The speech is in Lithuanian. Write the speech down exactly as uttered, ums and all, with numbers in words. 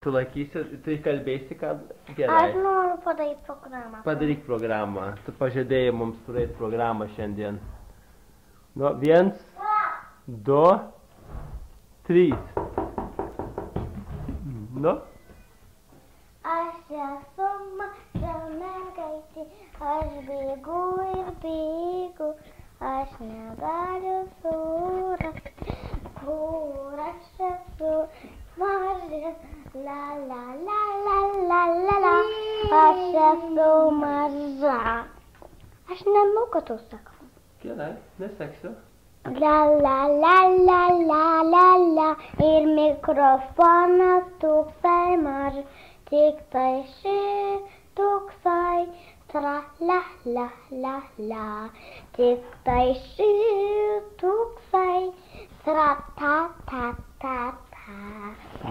Tu laikysi, tu kalbėsi, kad gerai. Aš noriu padaryti programą. Padaryk programą. Tu pažadėjai mums turėti programą šiandien. Nu, viens, du, trys. Nu? Aš esu maža mergaitė, aš bėgu ir bėgu, aš negaliu surasti, kur aš esu maža, la la la la la la la, aš esu maža. Aš nemoku to sakau. Gerai, neseksiu. La la la la la la la, ir mikrofonas toksai mažas, tik tai ši toksai, tra la la la la, tik tai ši toksai, tra ta ta ta ta.